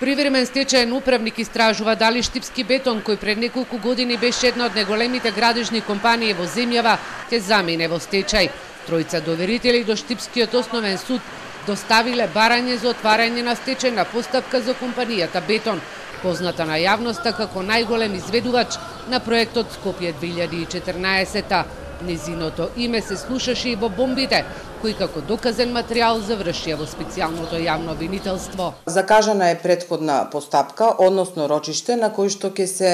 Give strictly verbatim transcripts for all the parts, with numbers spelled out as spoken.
Привремен стечаен управник истражува дали Штипски бетон, кој пред неколку години беше една од најголемите градежни компании во земјава, ќе замине во стечај. Тројца доверители до Штипскиот основен суд доставиле барање за отварање на стечајна постапка за компанијата Бетон, позната на јавноста како најголем изведувач на проектот Скопје две илјади и четрнаесета. Незиното име се слушаше и во бомбите, кои како доказен материјал завршија во специјалното јавно обвинителство. Закажана е претходна постапка, односно рочиште, на кој што ќе се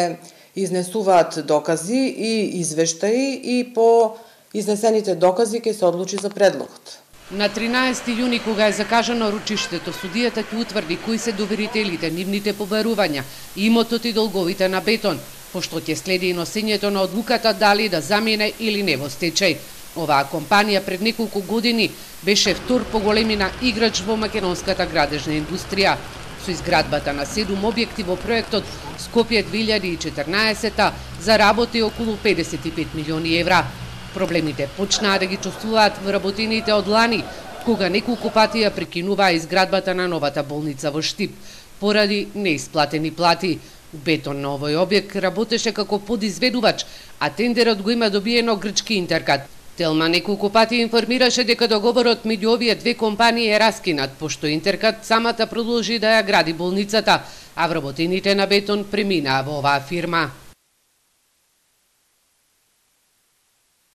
изнесуваат докази и извештаи и по изнесените докази ќе се одлучи за предлогот. На тринаесети јуни, кога е закажано рочиштето, судијата ќе утврди кои се доверителите, нивните побарувања, имотот и долговите на Бетон, пошто ќе следи и носењето на одлуката дали да замине или не во стечај. Оваа компанија пред неколку години беше втор по големина играч во македонската градежна индустрија. Со изградбата на седум објекти во проектот Скопје две илјади и четрнаесета заработи околу педесет и пет милиони евра. Проблемите почнаа да ги чувствуваат вработените од лани, кога неколку пати ја прекинуваа изградбата на новата болница во Штип, поради неисплатени плати. Бетон на овој објект работеше како подизведувач, а тендерот го има добиено грчки Интеркат. Телма неколку пати информираше дека договорот меѓу овие две компании е раскинат, пошто Интеркат самата продолжи да ја гради болницата, а вработените на Бетон преминаа во оваа фирма.